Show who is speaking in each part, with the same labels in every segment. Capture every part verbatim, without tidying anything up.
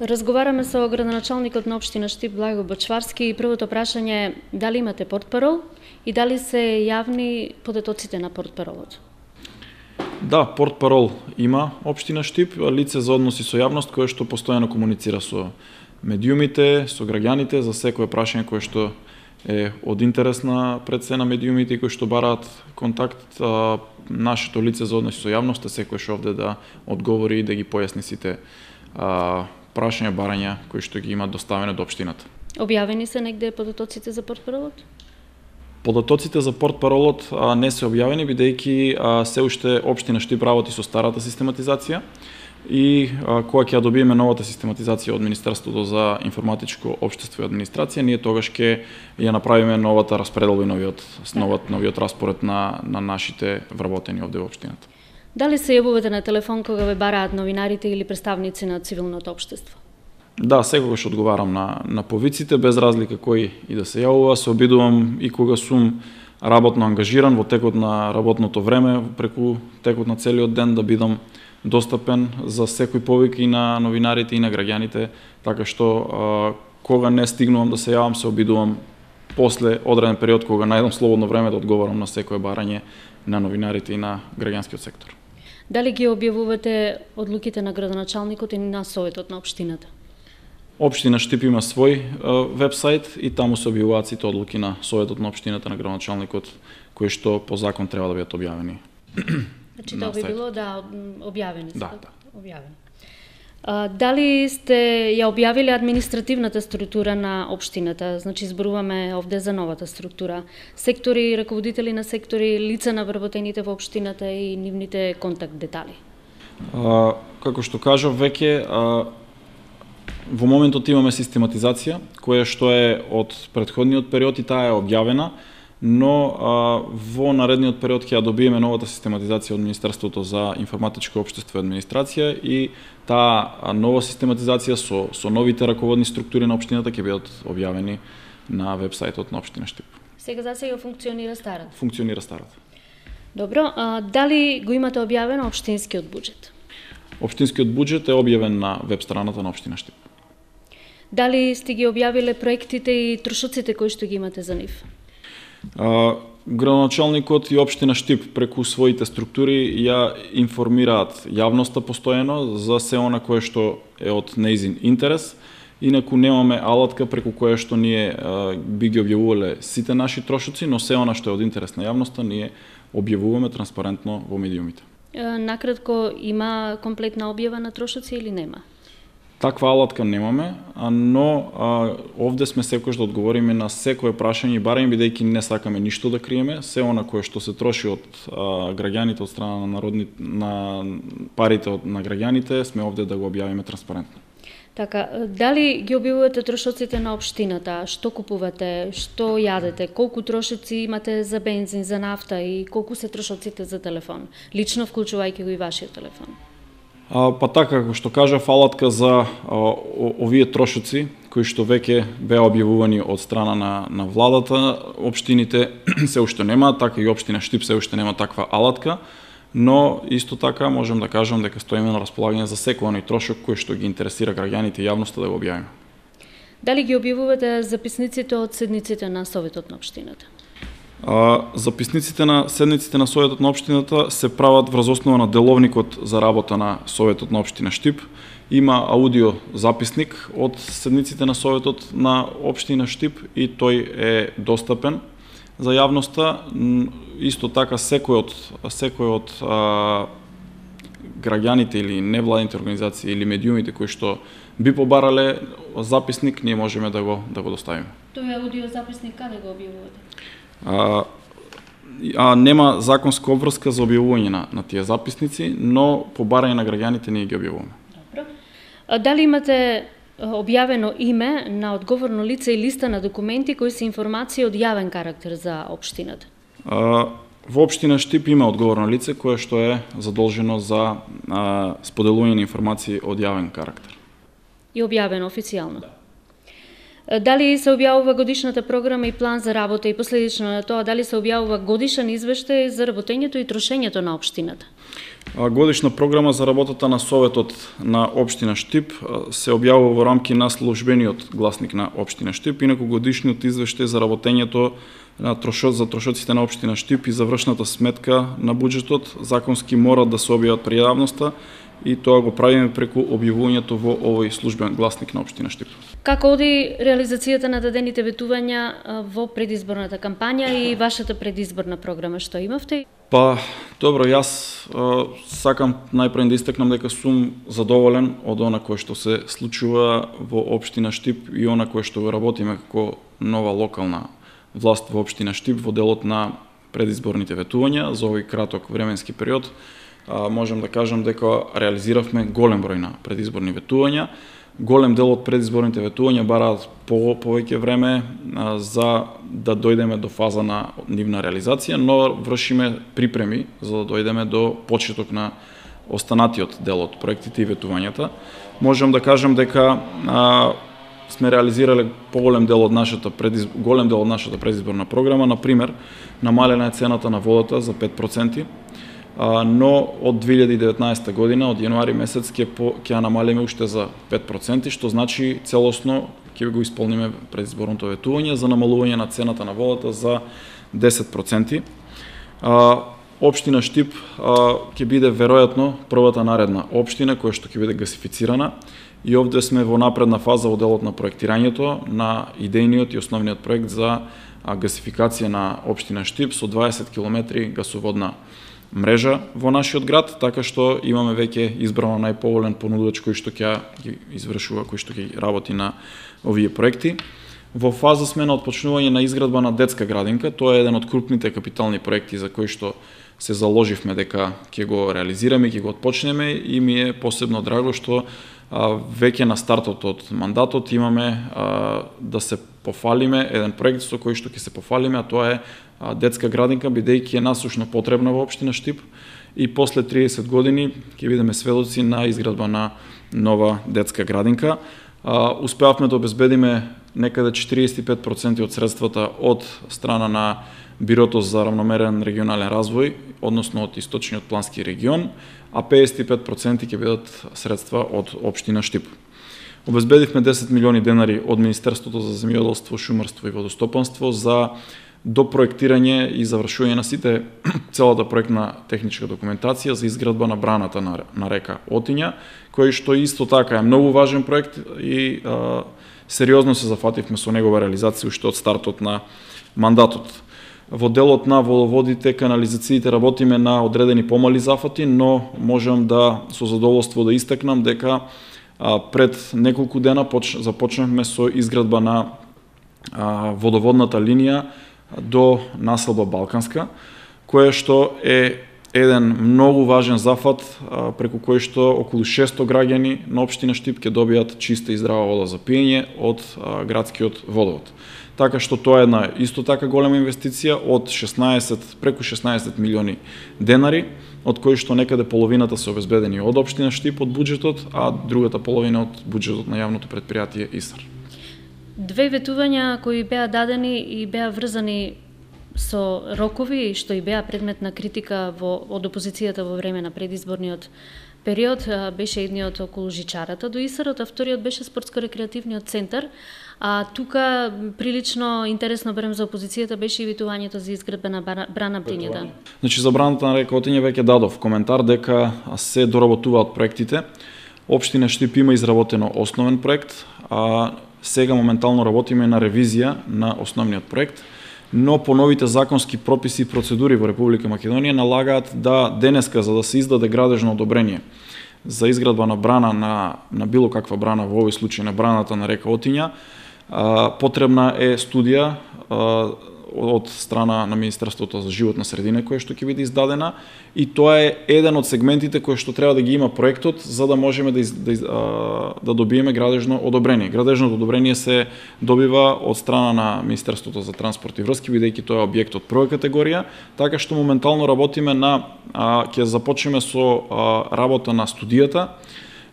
Speaker 1: Разговараме со градоначалникот на општина Штип Благо Бачварски и првото прашање е дали имате портпарол и дали се јавни податоците на портпаролот?
Speaker 2: Да, портпарол има општина Штип, лице за односи со јавност кое што постојано комуницира со медиумите, со граѓаните за секое прашање кое што е од интерес на пред се на медиумите и кои што бараат контакт. А, нашето лице за односи со јавност е секојаш овде да одговори и да ги појасни сите а, прашања, барања кои што ги имаат доставени до општината.
Speaker 1: Објавени се негде податоците за портпаролот?
Speaker 2: Податоците за портпаролот а, не се објавени, бидејќи а, се уште општина Штип работи со старата систематизација и а, кога ќе ја добиеме новата систематизација од Министерството за информатичко општество и администрација, ние тогаш ќе ја направиме новата распределба и новиот, новиот, новиот распоред на, на нашите вработени овде во општината.
Speaker 1: Дали се јавувате на телефон кога ве бараат новинарите или представници на цивилното општество?
Speaker 2: Да, секогаш одговарам на, на повиците, без разлика кој и да се јавува. Се обидувам и кога сум работно ангажиран во текот на работното време, преку текот на целиот ден да бидам достапен за секој повик и на новинарите и на граѓаните, така што а, кога не стигнувам да се јавам, се обидувам после одреден период кога најдам слободно време да одговарам на секое барање на новинарите и на граѓанскиот сектор.
Speaker 1: Дали ги објавувате одлуките на градоначалникот и на советот на општината?
Speaker 2: Општина Штип има свој вебсайт и таму се објавуваат сите одлуки на советот на општината, на градоначалникот, кои што по закон треба да бидат објавени.
Speaker 1: Значи тоа би било да објавени се.
Speaker 2: Да, да.
Speaker 1: Објавени. А, дали сте ја објавиле административната структура на општината? Значи зборуваме овде за новата структура. Сектори, раководители на сектори, лица на вработените во општината и нивните контакт детали.
Speaker 2: А, како што кажав веќе, а, во моментот имаме систематизација која што е од претходниот период и таа е објавена, но а, во наредниот период ќе ја добиеме новата систематизација од Министерството за информатичко општество и администрација и таа нова систематизација со, со новите раководни структури на општината ќе бидат објавени на вебсајтот на општина Штип.
Speaker 1: Сега за сега функционира старата?
Speaker 2: Функционира старата.
Speaker 1: Добро, а, дали го имате објавено општинскиот буџет?
Speaker 2: Општинскиот буџет е објавен на веб страната на општина Штип.
Speaker 1: Дали сте ги објавиле проектите и трошоците кои што ги имате за нив?
Speaker 2: А, градоначалникот и општина Штип преку своите структури ја информираат јавноста постојано за се она кое што е од нејзин интерес. Инаку немаме алатка преку која што ние а, би ги објавувале сите наши трошоци, но се она што е од интерес на јавноста ние објавуваме транспарентно во медиумите.
Speaker 1: Накратко, има комплетна објава на трошоци или нема?
Speaker 2: Таква алатка немаме, но а, овде сме секојаш да одговориме на секое прашање и барање, бидејќи не сакаме ништо да криеме, се она кое што се троши од а, граѓаните, од страна на народни, на парите од на граѓаните, сме овде да го објавиме транспарентно.
Speaker 1: Така, дали ги објавувате трошоците на општината? Што купувате, што јадете, колку трошоци имате за бензин, за нафта и колку се трошоците за телефон, лично вклучувајќи го и вашиот телефон?
Speaker 2: А, па така, како што кажа, алатка за а, овие трошоци, кои што веќе беа објавувани од страна на, на владата, општините се уште нема, така и општина Штип се уште нема таква алатка, но исто така можем да кажам дека стоиме на располагање за секој оној трошок кој што ги интересира граѓаните и јавноста да го објавиме.
Speaker 1: Дали ги објавувате записниците од седниците на советот на општината?
Speaker 2: А, записниците на седниците на советот на општината се прават врз основа на деловникот за работа на советот на општина Штип. Има аудио записник од седниците на советот на општина Штип и тој е достапен за јавноста. Исто така секој од секој од а, граѓаните или невладините организации или медиумите кои што би побарале записник, ние можеме да го да го доставиме.
Speaker 1: Тој аудио записник каде го објавувате?
Speaker 2: А, а нема законска обврска за објавување на, на тие записници, но по барање на граѓаните ние ги објавуваме.
Speaker 1: Добро. А дали имате објавено име на одговорно лице и листа на документи кои се информации од јавен карактер за општината?
Speaker 2: А, во општина Штип има одговорно лице кое што е задолжено за а, споделување на информации од јавен карактер.
Speaker 1: И објавено официјално? Дали се објавува годишната програма и план за работа и последично на тоа дали се објавува годишен извештај за работењето и трошењето на општината?
Speaker 2: Годишна програма за работата на Советот на општина Штип се објавува во рамки на службениот гласник на општина Штип, инаку годишниот извештај за работењето на трошот за трошоците на општина Штип и завршната сметка на буџетот законски мора да се објават пред јавноста и тоа го правиме преку објавувањето во овој службен гласник на општина Штип.
Speaker 1: Како оди реализацијата на дадените ветувања во предизборната кампања и вашата предизборна програма, што имавте?
Speaker 2: Па, добро, јас а, сакам најпред да истакнам дека сум задоволен од она кое што се случува во општина Штип и она кое што го работиме како нова локална власт во општина Штип во делот на предизборните ветувања за овој краток временски период. А, можем да кажам дека реализиравме голем број на предизборни ветувања. Голем дел од предизборните ветувања бараат по повеќе време а, за да дојдеме до фаза на нивна реализација, но вршиме припреми за да дојдеме до почеток на останатиот дел од проектите и ветувањата. Можем да кажам дека а, сме реализирале поголем дел од нашата предиз... голем дел од нашата предизборна програма, на пример, намалена е цената на водата за пет проценти. Но од две илјади и деветнаесетта година, од јануари месец, ќе ќе намалиме уште за пет проценти, што значи целосно ќе го исполниме предизборното ветување за намалување на цената на водата за десет проценти. Општина Штип ќе биде веројатно првата наредна општина која што ќе биде гасифицирана и овде сме во напредна фаза во делот на проектирањето на идејниот и основниот проект за гасификација на општина Штип со дваесет километри гасоводна мрежа во нашиот град, така што имаме веќе избрано најповолен понудувач кој што ќе извршува, кој што ќе работи на овие проекти. Во фаза сме на отпочнување на изградба на детска градинка. Тоа е еден од крупните капитални проекти за кои што се заложивме дека ќе го реализираме, ќе го отпочнеме и ми е посебно драго што а, веќе на стартот од мандатот имаме а, да се пофалиме еден проект со кој што ќе се пофалиме, а тоа е а, детска градинка, бидејќи е насушно потребна во општина Штип и после триесет години ќе бидеме сведоци на изградба на нова детска градинка. А, успеавме да обезбедиме некаде четириесет и пет проценти од средствата од страна на Бирото за равномерен регионален развој, односно од источниот плански регион, а педесет и пет проценти ќе бидат средства од општина Штип. Обезбедивме десет милиони денари од Министерството за земјоделство, шумарство и водостопанство за допроектирање и завршување на сите целата проектна техничка документација за изградба на браната на, на река Отиња, кој што исто така е многу важен проект и а, сериозно се зафативме со негова реализација уште од стартот на мандатот. Во делот на водоводите, канализациите работиме на одредени помали зафати, но можам да со задоволство да истакнам дека а, пред неколку дена поч, започнавме со изградба на а, водоводната линија до населба Балканска, кое што е еден многу важен зафат а, преку кој што околу шесто граѓани на општина Штип ќе добијат чиста и здрава вода за пиење од а, градскиот водовод. Така што тоа е една исто така голема инвестиција од шеснаесет, преку шеснаесет милиони денари, од кои што некаде половината се обезбедени од општина Штип од буџетот, а другата половина од буџетот на јавното претпријатие ИСАР.
Speaker 1: Две ветувања кои беа дадени и беа врзани со рокови, што и беа предмет на критика во, од опозицијата во време на предизборниот период, беше едниот околу жичарата до ИСАРот, а вториот беше спортско-рекреативниот центар. А тука прилично интересно барем за опозицијата беше и ветувањето за изградба на брана Птињата.
Speaker 2: Значи за браната на река Отиња веќе дадов коментар дека се доработуваат проектите. Општина Штип има изработено основен проект, а сега моментално работиме на ревизија на основниот проект, но по новите законски прописи и процедури во Република Македонија налагаат да денеска за да се издаде градежно одобрение за изградба на брана на, на било каква брана, во овој случај на браната на река Отиња, потребна е студија од страна на Министерството за животна средина која што ќе биде издадена и тоа е еден од сегментите кои што треба да ги има проектот за да можеме да, из, да, да добиеме градежно одобрение. Градежното одобрение се добива од страна на Министерството за транспорт и врски, бидејќи тоа е објект од прва категорија, така што моментално работиме на ќе започнеме со работа на студијата,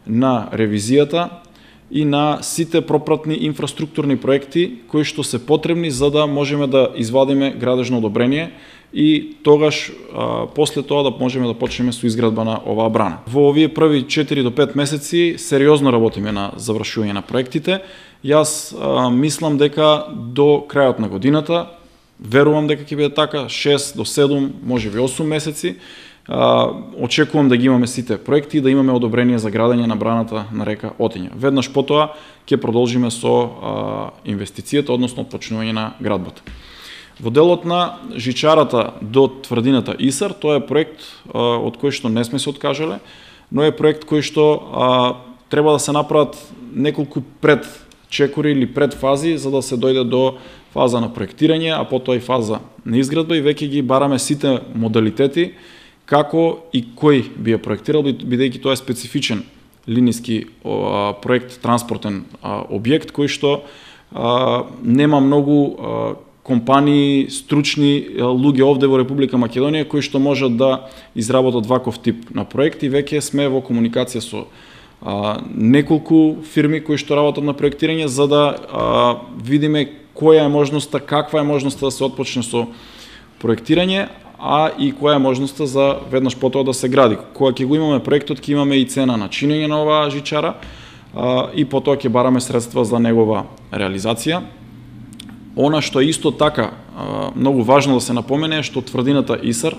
Speaker 2: на ревизијата и на сите пропратни инфраструктурни проекти кои што се потребни за да можеме да извадиме градежно одобрение и тогаш а, после тоа да можеме да почнеме со изградба на оваа брана. Во овие први четири до пет месеци сериозно работиме на завршување на проектите. Јас а, мислам дека до крајот на годината, верувам дека ќе биде така, шест до седум, можеби осум месеци, а, очекувам да ги имаме сите проекти и да имаме одобрение за градење на браната на река Отиња. Веднаш потоа ќе продолжиме со а, инвестицијата, односно почнување на градбата. Во делот на жичарата до тврдината Исар, тоа е проект а, од кој што не сме се откажале, но е проект кој што а, треба да се направат неколку пред чекори или пред фази за да се дојде до фаза на проектирање, а потоа и фаза на изградба и веќе ги бараме сите модалитети како и кој би ја проектирал, бидејќи тоа е специфичен линиски а, проект, транспортен а, објект кој што а, нема многу а, компании, стручни луѓе овде во Република Македонија кои што можат да изработат ваков тип на проект и веќе сме во комуникација со а, неколку фирми кои што работат на проектирање за да а, видиме која е можноста, каква е можноста да се отпочне со проектирање, а и која е можноста за веднаш потоа да се гради. Кога ќе го имаме проектот, ќе имаме и цена на чинење на оваа жичара а, и потоа ќе бараме средства за негова реализација. Она што е исто така а, многу важно да се напомене е што тврдината Исар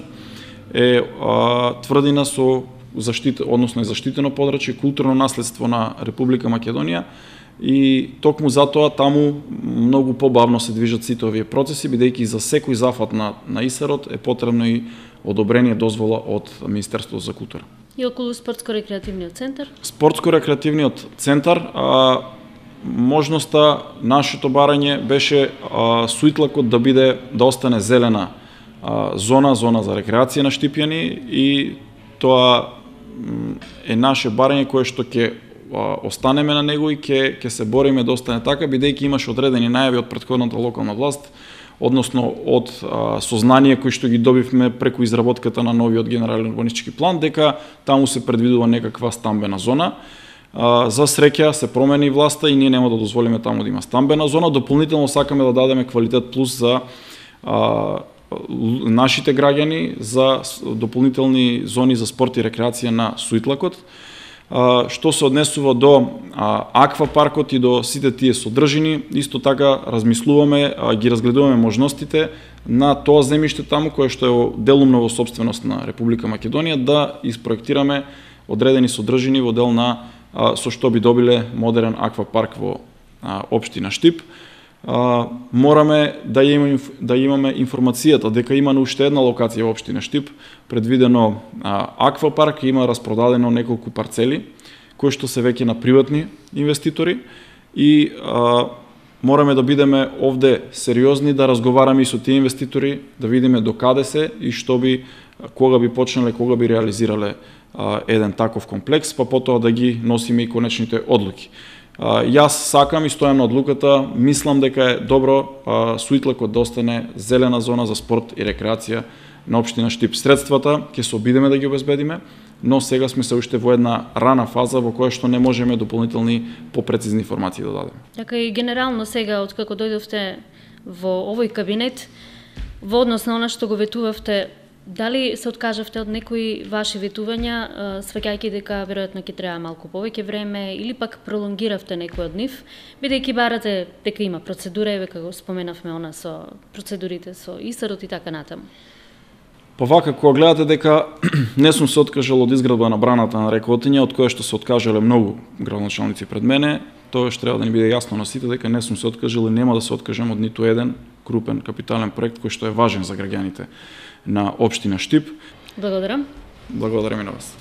Speaker 2: е а, тврдина со заштит, односно е заштитено подрачје, културно наследство на Република Македонија и токму затоа таму многу побавно се движат сите овие процеси, бидејќи за секој зафат на, на Исарот е потребно и одобрение, дозвола од Министерството за култура.
Speaker 1: И околу спортско-рекреативниот центар?
Speaker 2: Спортско-рекреативниот центар а, можноста нашето барање беше а, Суитлакот да биде да остане зелена а, зона, зона за рекреација на Штипјани и тоа е наше барање кое што ќе останеме на него и ќе ќе се бориме да остане така, бидејќи имаше одредени најави од претходната локална власт, односно од а, сознание кои што ги добивме преку изработката на новиот генерален урбанистички план, дека таму се предвидува некаква стамбена зона. А, за среќа се промени власта и ние нема да дозволиме таму да има стамбена зона. Дополнително сакаме да дадеме квалитет плюс за а, нашите граѓани, за дополнителни зони за спорт и рекреација на Суитлакот. А, што се однесува до а, аквапаркот и до сите тие содржини, исто така размислуваме, а, ги разгледуваме можностите на тоа земјиште таму кое што е делумно во собственост на Република Македонија да испроектираме одредени содржини во дел на а, со што би добиле модерен аквапарк во а, општина Штип. А, мораме да имаме, да имаме информацијата дека има уште една локација во општина Штип, предвидено а, аквапарк, има распродадено неколку парцели кои што се веќе на приватни инвеститори и а, мораме да бидеме овде сериозни, да разговараме и со тие инвеститори, да видиме до каде се и што би, кога би почнале, кога би реализирале а, еден таков комплекс, па потоа да ги носиме и конечните одлуки. А, јас сакам и стојам на одлуката, мислам дека е добро а, Суитлакот да остане зелена зона за спорт и рекреација на општина Штип. Средствата ќе се обидеме да ги обезбедиме, но сега сме се уште во една рана фаза во која што не можеме дополнителни попрецизни информации да дадеме.
Speaker 1: Така и генерално сега, откако дојдовте во овој кабинет, во однос на она што го ветувавте, дали се откажавте од некои ваши ветувања, сваќајќи дека веројатно ќе треба малку повеќе време или пак пролонгиравте некој од нив, бидејќи барате дека има процедура, века го споменавме она со процедурите со Исарот и така натаму?
Speaker 2: Па вака, кога гледате дека не сум се откажал од изградба на браната на река Отиња, од која што се откажале многу градоначалници пред мене, тоа што треба да ни биде јасно на сите дека не сум се откажал и нема да се откажам од ниту еден крупен капитален проект кој што е важен за граѓаните на општина Штип.
Speaker 1: Благодарам.
Speaker 2: Благодарам и на вас.